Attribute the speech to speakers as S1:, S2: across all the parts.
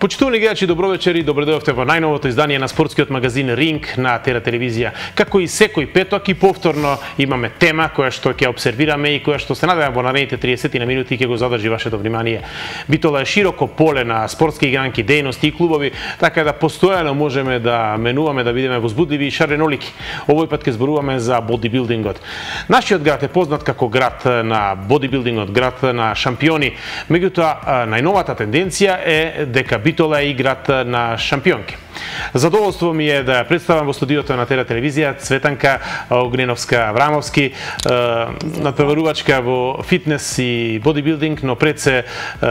S1: Почитувани гледачи, добро вечер и добре дојдовте во најновото издание на спортскиот магазин Ринг на Тера телевизија. Како и секој петок и повторно имаме тема која што ќе обсервираме и која што се надевам во наредните 30 на минути ќе го задржи вашето внимание. Битола е широко поле на спортски игранки, дејности и клубови, така да постојано можеме да менуваме, да бидеме возбудливи и шаренолики. Овој пат ќе зборуваме за бодибилдингот. Нашиот град е познат како град на бодибилдингот, град на шампиони. Меѓутоа, најновата тенденција е дека Битола е и град на шампионки. Задоволство ми е да представам во студиото на Тера телевизија Цветанка Огненовска-Аврамовски, надпреварувачка во фитнес и бодибилдинг, но пред се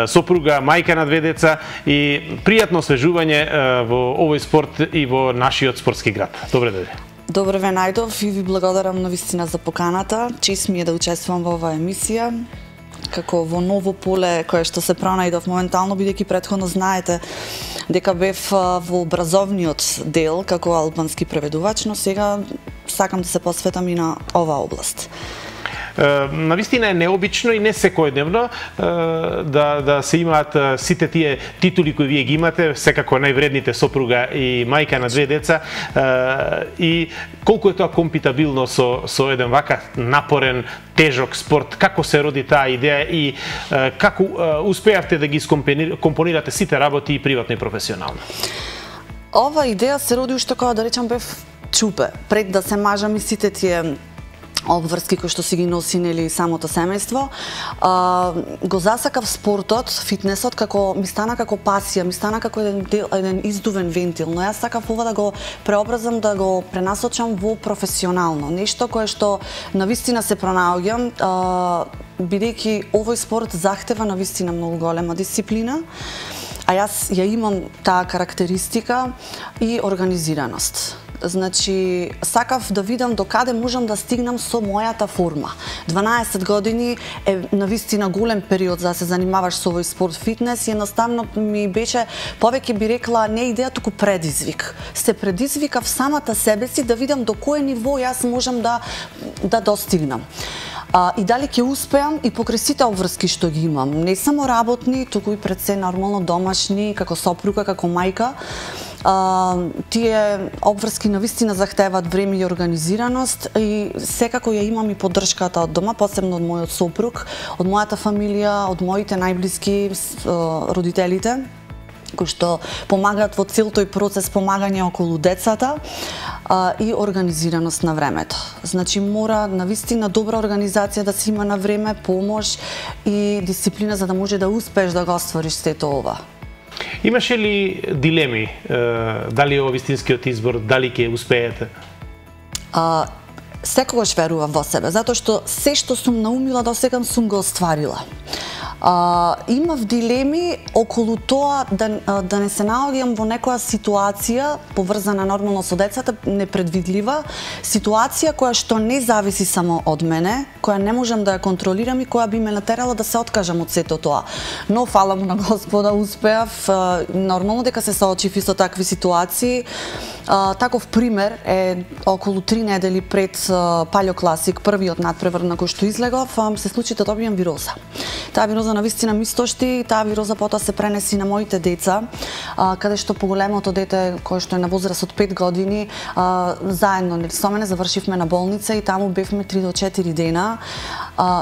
S1: сопруга, мајка на 2 деца и пријатно освежување во овој спорт и во нашиот спортски град. Добре дојде.
S2: Добре ве најдов и ви благодарам навистина за поканата. Чест ми е да учествувам во оваа емисија како во ново поле кое што се пронајдов моментално, бидејќи претходно знаете дека бев во образовниот дел како албански преведувач, но сега сакам да се посветам и на оваа област.
S1: Навистина е необично и не секојдневно да се имаат сите тие титули кои вие ги имате, секако највредните сопруга и мајка на 2 деца, и колку е тоа компатибилно со еден вака напорен, тежок спорт, како се роди таа идеја и како успеавте да ги компонирате сите работи и приватно и професионално?
S2: Ова идеја се роди уште кога да речам бев чупе, пред да се мажам и сите тие обврски кои што си ги носи нели самото семејство. Го засакав спортот, фитнесот ми стана како пасија, ми стана како еден издувен вентил, но јас сакав ова да го преобразам, да го пренасочам во професионално, нешто кое што навистина се пронаоѓам, бидејќи овој спорт захтева навистина многу голема дисциплина, а јас ја имам таа карактеристика и организираност. Значи, сакав да видам до каде можам да стигнам со мојата форма. 12 години е навистина голем период за да се занимаваш со овој спорт фитнес и едноставно ми беше, повеќе би рекла, не идеја, туку предизвик. Се предизвикав самата себе си да видам до кое ниво јас можам да достигнам. И дали ќе успеам и покрај сите обврски што ги имам, не само работни, туку и пред се нормално домашни, како сопруга, како мајка. Тие обврски навистина захтеваат време и организираност и секако ја имам и поддршката од дома, посебно од мојот сопруг, од мојата фамилија, од моите најблиски, родителите, кои што помагаат во цел тој процес помагање околу децата и организираност на времето. Значи мора навистина добра организација да се има на време, помош и дисциплина за да може да успееш да го оствариш сето ова.
S1: Имаше ли дилеми дали е ова вистинскиот избор, дали ќе успеете?
S2: Секогаш верувам во себе, затоа што се што сум наумила до сега сум го остварила. Имав дилеми околу тоа да не се наоѓам во некоја ситуација поврзана нормално со децата, непредвидлива, ситуација која што не зависи само од мене, која не можам да ја контролирам и која би ме натерала да се откажам од сето тоа. Но фала му на Господа успеав, нормално дека се соочив и со такви ситуации. Таков пример е околу 3 недели пред Палео Класик, првиот надпревар на кој што излегов, се случи да добијам вироза. Таа вироза навистина ми стошти, таа вироза потоа се пренеси на моите деца, каде што поголемото дете, кое што е на возраст од 5 години, заедно со мене завршивме на болница и таму бевме 3 до 4 дена,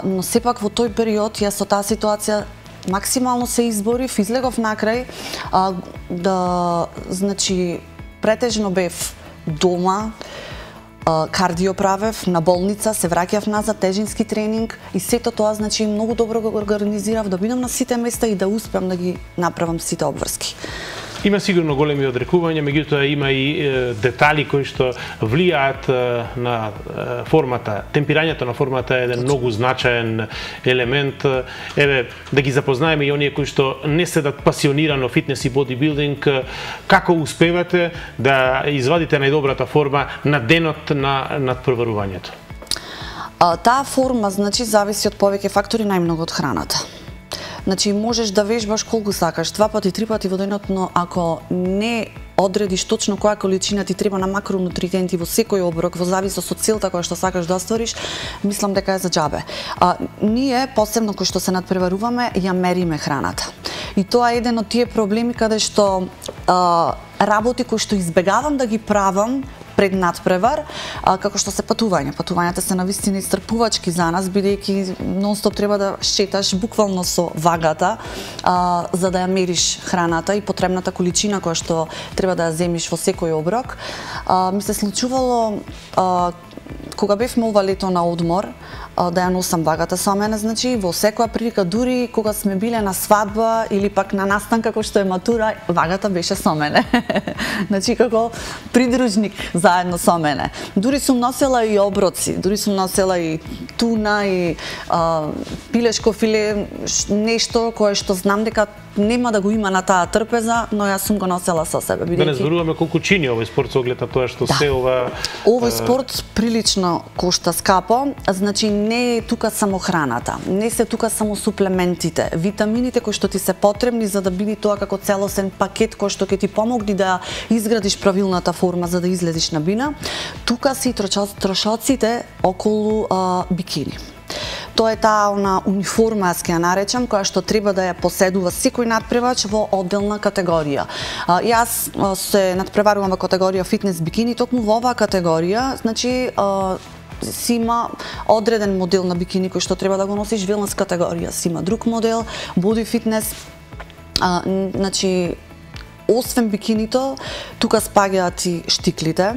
S2: но сепак во тој период јас со таа ситуација максимално се изборив, излегов накрај, значи претежно бев дома, кардио правев, на болница, се враќав назад, тежински тренинг и сето тоа, значи, многу добро го организирав да бидам на сите места и да успеам да ги направам сите обврски.
S1: Има сигурно големи одрекувања, меѓутоа има и детали кои што влијаат на формата. Темпирањето на формата е еден многу значаен елемент. Еве, да ги запознаеме и оние кои што не седат пасионирано фитнес и бодибилдинг, како успевате да извадите најдобрата форма на денот на надпреварувањето?
S2: Таа форма, значи, зависи од повеќе фактори, најмногу од храната. Значи, можеш да вежбаш колку сакаш, 2 пати, 3 пати во денот, но ако не одредиш точно која количина ти треба на макронутриенти во секој оброк, во зависност од целта која што сакаш да оствариш, мислам дека е за џабе. Ние, посебно кои што се надпреваруваме, ја мериме храната. И тоа е еден од тие проблеми каде што работи кои што избегавам да ги правам пред надпревар, како што се патување. Патувањата се навистина исцрпувачки за нас, бидејќи нон-стоп треба да шеташ буквално со вагата, за да ја мериш храната и потребната количина која што треба да ја земиш во секој оброк. Ми се случувало кога бевме ова лето на одмор, да ја носам вагата со мене, значи во секоја прилика, дури кога сме биле на свадба или пак на настанка кој што е матура, вагата беше со мене. Значи како придружник заедно со мене. Дури сум носела и оброци, дури сум носела и туна и пилешко филе, нешто кое што знам дека нема да го има на таа трпеза, но јас сум го носела со себе.
S1: Да не зборуваме колку чини овој спорт со оглед на тоа што се ова...
S2: Овој спорт прилично кошта скапо, значи не е тука само храната, не се тука само суплементите, витамините кои што ти се потребни за да биде тоа како целосен пакет кој што ќе ти помогне да изградиш правилната форма за да излезеш на бина. Тука се и трошоците околу бикини. Тоа е таа униформа, јас ќе ја наречам, која што треба да ја поседува секој надпревач во одделна категорија. Јас се надпреварувам во категорија фитнес бикини, токму во оваа категорија, значи си има одреден модел на бикини кој што треба да го носиш, велнес категорија си има друг модел, боди фитнес, значи освен бикинито, тука спаѓаат и штиклите.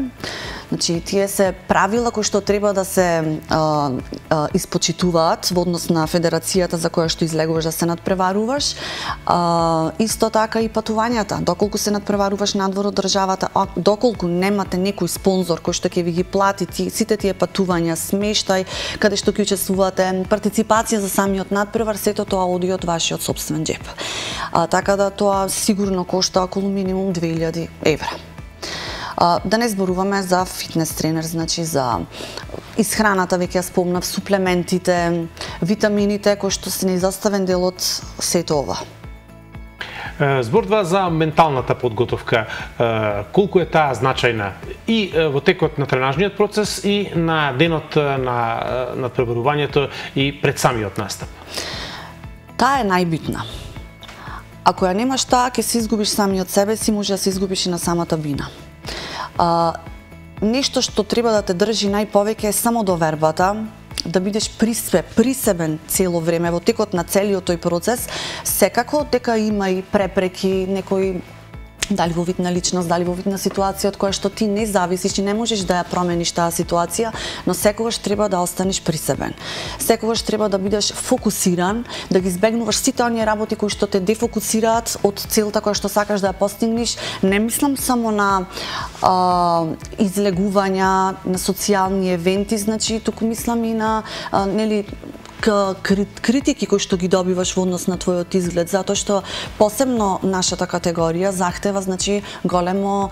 S2: Значи, тие се правила кои што треба да се испочитуваат во однос на федерацијата за која што излегуваш да се надпреваруваш. Исто така и патувањата. Доколку се надпреваруваш надвор од државата, доколку немате некој спонзор кој што ќе ви ги плати сите тие патувања, смештај, каде што ќе учествувате, партиципација за самиот надпревар, сето тоа оди од вашиот сопствен џеп. Така да тоа сигурно кошта околу минимум 2000 евра. Да не зборуваме за фитнес тренер, значи за исхраната, веќе ја спомнав, суплементите, витамините кои што се неизоставен дел од сето ова.
S1: Зборува за менталната подготовка. Колку е таа значајна и во текот на тренажниот процес и на денот на надпреварувањето и пред самиот настап?
S2: Таа е најбитна. Ако ја немаш таа, ќе се изгубиш самиот себе си, може да се изгубиш и на самата бина. Нешто што треба да те држи најповеќе е само довербата, да бидеш присебен цело време во текот на целиот тој процес. Секако дека има и препреки, некои дали во вид на личност, дали во вид на ситуација од која што ти не зависиш и не можеш да ја промениш таа ситуација, но секогаш треба да останеш присебен. Секогаш треба да бидеш фокусиран, да ги избегнуваш сите оние работи кои што те дефокусираат од целта која што сакаш да ја постигнеш. Не мислам само на излегувања, на социјални евенти, значи туку мислам и на критики кои што ги добиваш во однос на твојот изглед, затоа што посебно нашата категорија захтева, значи, големо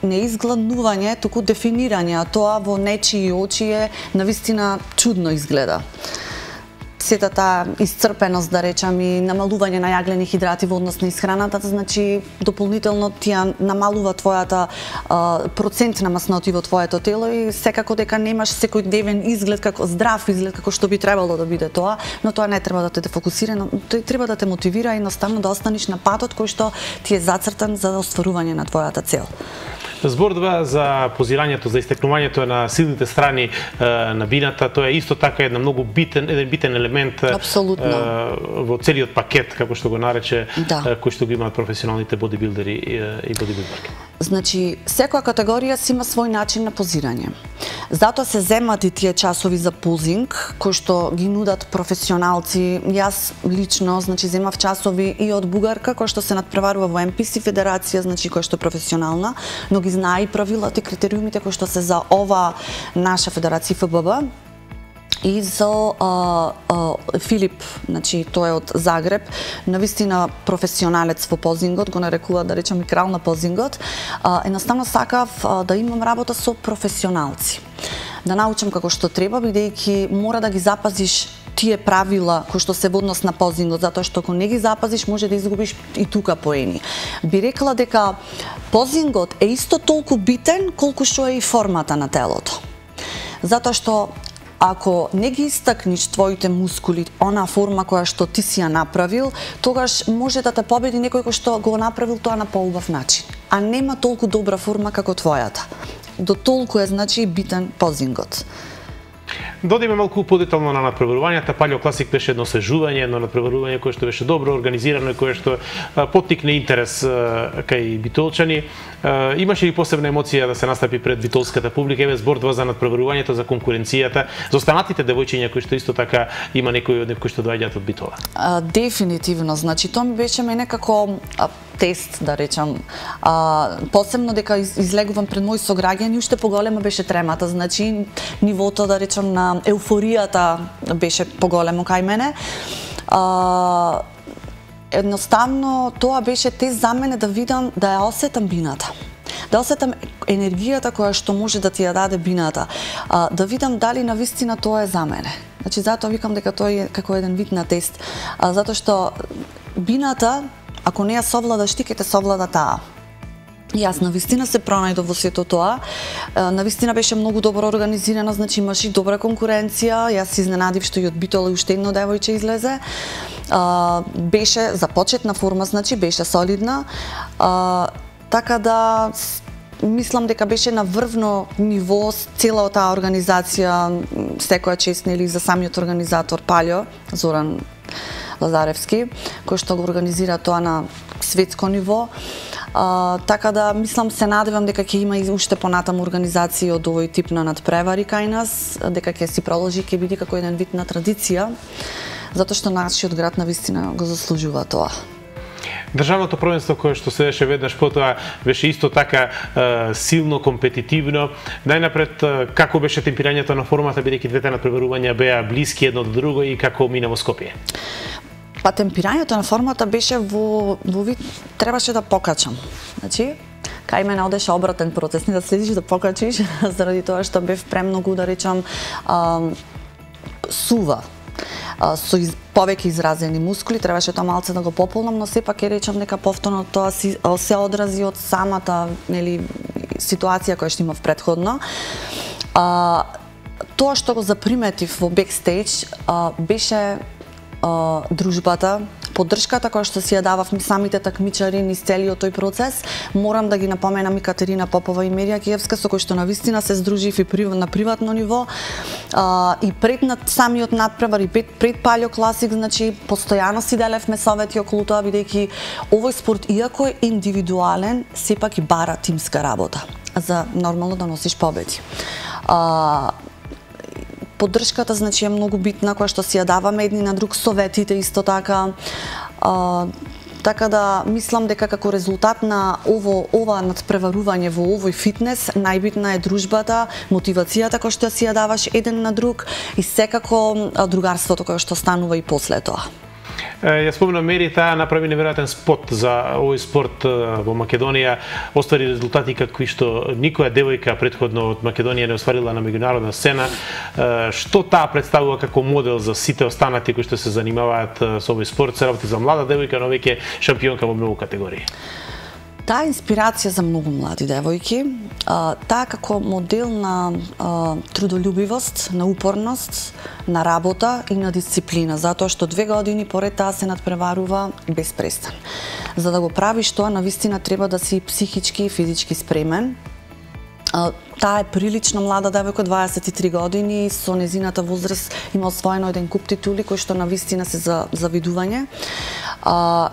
S2: не изгладнување, туку дефинирање, а тоа во нечии очи е навистина чудно изгледа. Сета таа исцрпеност, да речам, и намалување на јаглени хидрати во однос на исхраната, значи дополнително ти ја намалува твојата процент на масноти во твоето тело и секако дека немаш секојдневен изглед, како здрав изглед, како што би требало да биде тоа, но тоа не треба да те дефокусира, но тој треба да те мотивира едноставно да останеш на патот кој што ти е зацртан за остварување на твојата цел.
S1: Зборува за позирањето, за истекнувањето на силните страни на бината, тоа е исто така еден битен елемент во целиот пакет, како што го нарече, кој што го имаат професионалните бодибилдери и бодибилдерки.
S2: Значи, секоја категорија си има свој начин на позирање. Затоа се земат и тие часови за позинг, кои што ги нудат професионалци. Јас лично, значи, земав часови и од бугарка, која што се надпреварува во МПС федерација, значи, која што е професионална, но ги знае и правилата и критериумите кои што се за ова наша федерација ФББ. И за Филип, значи тој е од Загреб, навистина професионалец во позингот, го нарекува, да речем, и крал на позингот. Едноставно сакав да имам работа со професионалци. Да научам како што треба, бидејќи мора да ги запазиш тие правила кои што се во однос на позингот, затоа што ако не ги запазиш може да изгубиш и тука поени. Би рекла дека позингот е исто толку битен колку што е и формата на телото. Затоа што ако не ги истакниш твоите мускули, она форма која што ти си ја направил, тогаш може да те победи некој кој што го направил тоа на поубав начин, а нема толку добра форма како твојата. До толку е значи битен позингот.
S1: Додиме малку подетално на надпреварувањата. Палео Класик беше едно освежување, едно надпреварување кое што беше добро организирано и кое што поттикне интерес кај битолчани. Имаше ли посебна емоција да се настапи пред битолската публика? Еве зборува за надпреварувањето, за конкуренцијата, за останатите девојчиња кои што исто така има некои од нив кои што доаѓаат од Битола.
S2: Дефинитивно, значи тоа ми беше мене како тест, да речам. Посебно дека излегувам пред мои сограѓани, уште поголема беше тремата, значи нивото, да речам, на еуфоријата беше поголемо кај мене. Едноставно тоа беше тест за мене да видам, да ја осетам бината. Да осетам енергијата која што може да ти ја даде бината. Да видам дали навистина тоа е за мене. Значи затоа викам дека тоа е како еден вид на тест. Затоа што бината, ако не ја совладаш ти, ќе те совлада таа. И јас навистина се пронајдов во сето тоа. Навистина беше многу добро организирана, значи имаше и добра конкуренција. Јас се изненадив што и од Битола уште едно девојче излезе. Беше започетна форма, значи беше солидна. Така да мислам дека беше на врвно ниво цела таа организација. Секоја чест нели за самиот организатор Палео Зоран Лазаревски, кој што го организира тоа на светско ниво. Така да мислам, се надевам дека ќе има и уште понатаму организации од овој тип на надпревари кај нас, дека ќе си продолжи, ќе биде како еден вид на традиција, затоа што нашиот град навистина го заслужува тоа.
S1: Државното првенство кое што се деше веднаш потоа беше исто така силно компетитивно. Најнапред, како беше темпирањето на формата, бидејќи двете надпреварувања беа блиски едно до друго, и како мина во Скопје?
S2: Па темпирањето на формата беше во вид, требаше да покачам. Значи, кај мене одеше обратен процес, не да следиш да покачиш, заради тоа што бев премногу, да речам, сува. Со повеќе изразени мускули, требаше тоа малце да го пополнам, но сепак ќе речам дека повторно тоа се одрази од самата, нели, ситуација која што имав претходно. Тоа што го заприметив во бекстејдж беше дружбата, поддршката која што си ја дававме самите такмичари низ целиот тој процес. Морам да ги напоменам и Катерина Попова и Мерија Киевска, со кои што навистина се здружив и на приватно ниво. И пред самиот надпревар, и пред Палео Класик, значи постојано си делевме совети околу тоа, бидејќи овој спорт, иако е индивидуален, сепак и бара тимска работа за нормално да носиш победи. Поддршката, значи, е многу битна, која што си ја даваме едни на друг, советите исто така. Така да мислам дека како резултат на ова надпреварување во овој фитнес, најбитна е дружбата, мотивацијата која што си ја даваш еден на друг и секако другарството кое што станува и после тоа.
S1: Ја спомнам, Мери, таа направи неверојатен спот за овој спорт во Македонија, оствари резултати какви што никоја девојка претходно од Македонија не остварила на меѓународна сцена. Што таа представува како модел за сите останати кои што се занимаваат со овој спорт? Се работи за млада девојка, но веќе шампионка во многу категории.
S2: Таа инспирација за многу млади девојки, таа како модел на трудолюбивост, на упорност, на работа и на дисциплина, затоа што 2 години поред таа се надпреварува без престан. За да го правиш тоа, навистина треба да си психички и физички спремен. Таа е прилично млада девојка, 23 години, со незината возраст има освоено еден куп титули кои што навистина се за завидување.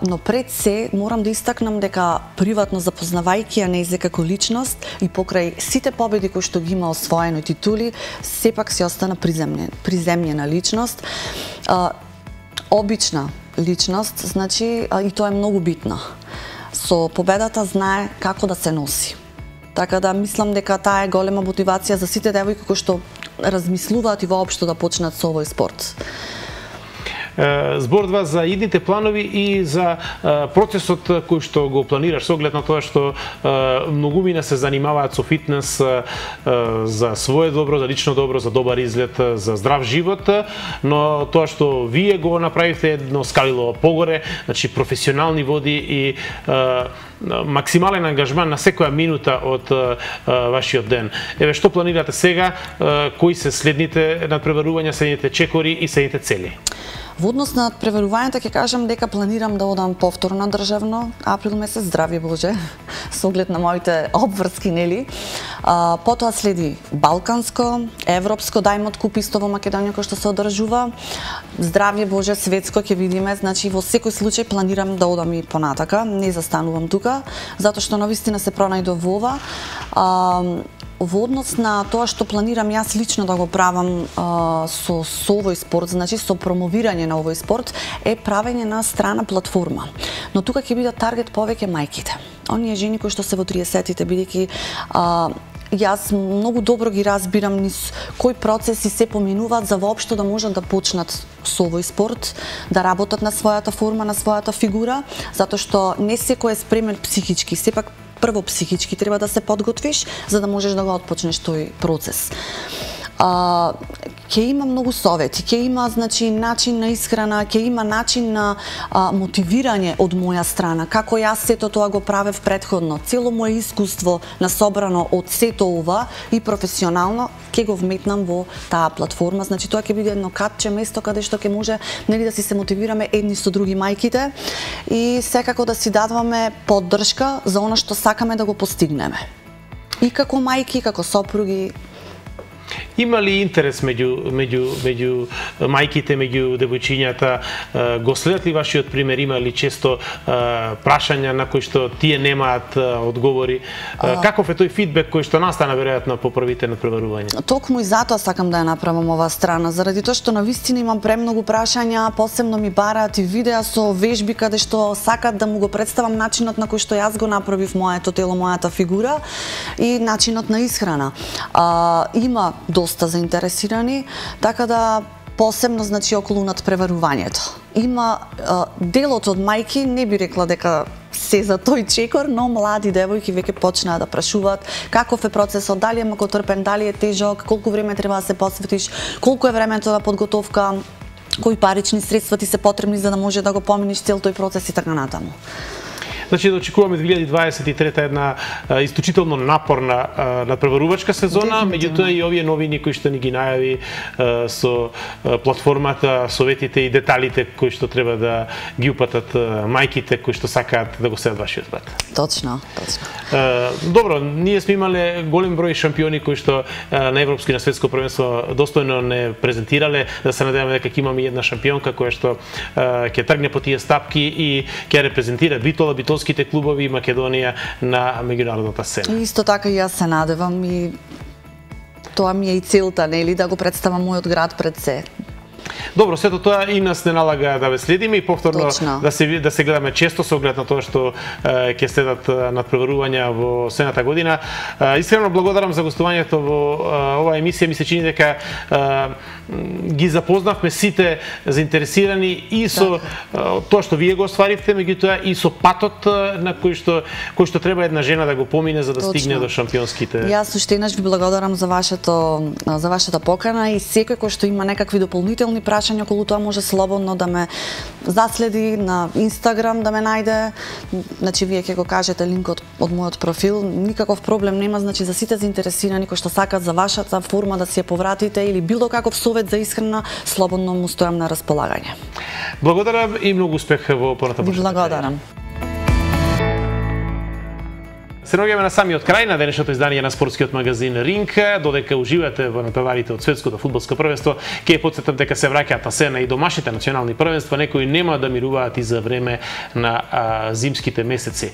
S2: Но пред се морам да истакнам дека приватно запознавајќи ја нејзе како личност и покрај сите победи кои што ги има освоено титули, сепак се остана приземјена личност. Обична личност, значи, и тоа е многу битно. Со победата знае како да се носи. Така да мислам дека таа е голема мотивација за сите девојки кои што размислуваат и воопшто да почнат со овој спорт.
S1: зборува за идните планови и за процесот кој што го планираш, со оглед на тоа што многумина се занимаваат со фитнес за свое добро, за лично добро, за добар изглед, за здрав живот, но тоа што вие го направивте едно скалило погоре, значи професионални води и максимален ангажман на секоја минута од вашиот ден. Еве, што планирате сега, кои се следните надпреварувања, следните чекори и следните цели?
S2: Во однос на надпреварувањата ќе кажам дека планирам да одам повторно на државно, април месец, здрави Боже, со оглед на моите обврски, нели. Потоа следи балканско, европско, Даймонд куп исто во Македонија кој што се одржува. Здравје Боже, светско ќе видиме, значи во секој случај планирам да одам и понатака, не застанувам тука, затоа што навистина се пронајдов во ова. Во однос на тоа што планирам јас лично да го правам со овој спорт, значи со промовирање на овој спорт, е правење на страна платформа. Но тука ќе бидат таргет повеќе мајките. Оние жени кои што се во 30-тите, бидејќи јас многу добро ги разбирам низ кои процеси се поминуваат за воопшто да можат да почнат со овој спорт, да работат на својата форма, на својата фигура, затоа што не секој е спремен психички, сепак прво психички треба да се подготвиш за да можеш да го отпочнеш тој процес. Ќе има многу совети, ќе има значи начин на исхрана, ќе има начин на мотивирање од моја страна, како јас сето тоа го правев претходно. Цело мое искуство насобрано од сето ова и професионално ќе го вметнам во таа платформа. Значи тоа ќе биде едно кратче место каде што ќе може нели да си се мотивираме едни со други мајките и секако да си дадваме поддршка за она што сакаме да го постигнеме. И како мајки, како сопруги.
S1: Има ли интерес меѓу мајките, меѓу девојчињата? Го следат ли вашиот пример? Има ли често прашања на кои што тие немаат одговори? Каков е тој фидбек кој што настана веројатно по првите надпреварувања?
S2: Токму и затоа сакам да ја направам оваа страна, заради тоа што навистина имам премногу прашања, посебно ми бараат и видеа со вежби каде што сакат да му го представам начинот на кој што јас го направив моето тело, мојата фигура и начинот на исхрана. Има доста заинтересирани, така да посебно значи околу надпреварувањето. Има делот од мајки, не би рекла дека се за тој чекор, но млади девојки веќе почнаа да прашуваат каков е процесот, дали е макотрпен, дали е тежок, колку време треба да се посветиш, колку е времето на подготовка, кои парични средства ти се потребни за да може да го поминиш цел тој процес и така натаму.
S1: Значи да очекуваме 2023 една исклучително напорна надпреварувачка сезона, меѓутоа и овие новини кои што ни ги најави со платформата, советите и деталите кои што треба да ги упатат мајките кои што сакаат да го следат вашиот пат.
S2: Точно.
S1: Добро, ние сме имале голем број шампиони кои што на европско и на светско првенство достојно не презентирале, да се надеваме дека ќе имаме една шампионка која што ќе тргне по тие стапки и ќе репрезентира битолските клубови и Македонија на меѓународната сцена.
S2: Исто така и јас се надевам и тоа ми е и целта, нели, да го представам мојот град пред се.
S1: Добро, сето тоа и нас не налага да ве следиме и повторно да се гледаме често со оглед на тоа што ќе следат надпреварувања во следната година. Искрено благодарам за гостувањето во оваа емисија. Ми се чини дека ги запознавме сите заинтересирани и со тоа што вие го остваривте, меѓутоа и со патот на кој што треба една жена да го помине за да стигне до шампионските.
S2: Јас уште еднаш ви благодарам за вашата покана и секој кој што има некакви дополнителни прашања околу тоа може слободно да ме заследи на Инстаграм, да ме најде. Значи вие ќе го кажете линкот од мојот профил, никаков проблем нема, значи за сите заинтересирани кои што сакат за вашата форма да си ја повратите или било каков совет за исхрана, слободно му стојам на располагање.
S1: Благодарам и многу успех во понатаму.
S2: Благодарам.
S1: Се наоѓаме на самиот крај на денешното издање на спортскиот магазин Ринг. Додека уживате во натпреварите од светското фудбалско првенство, ќе потсетам дека се враќаат на сцена и домашните национални првенства, некои нема да мируваат и за време на зимските месеци.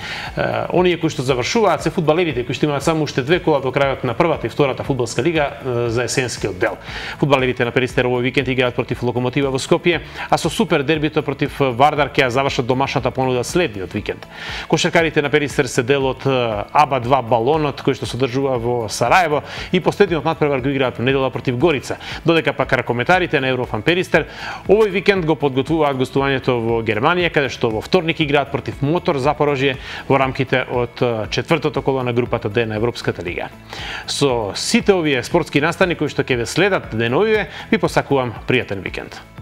S1: Оние кои што завршуваат се фудбалерите кои што имаат само уште 2 кола до крајот на првата и втората фудбалска лига за есенскиот дел. Фудбалерите на Перистер овој викенд играат против Локомотива во Скопје, а со супер дербито против Вардар ќе ја завршат домашната понуда следниот викенд. Кошаркарите на Перистер се дел од АБА-2 балонот кој што се одржува во Сараево и последниот натпревар го играат во недела против Горица. Додека пак ракометарите на Еврофан Перистер овој викенд го подготвуваат гостувањето во Германија, каде што во вторник играат против Мотор Запорожје во рамките од четвртото коло на групата Д на Европската лига. Со сите овие спортски настани кои што ќе ве следат деновиве, ви посакувам пријатен викенд.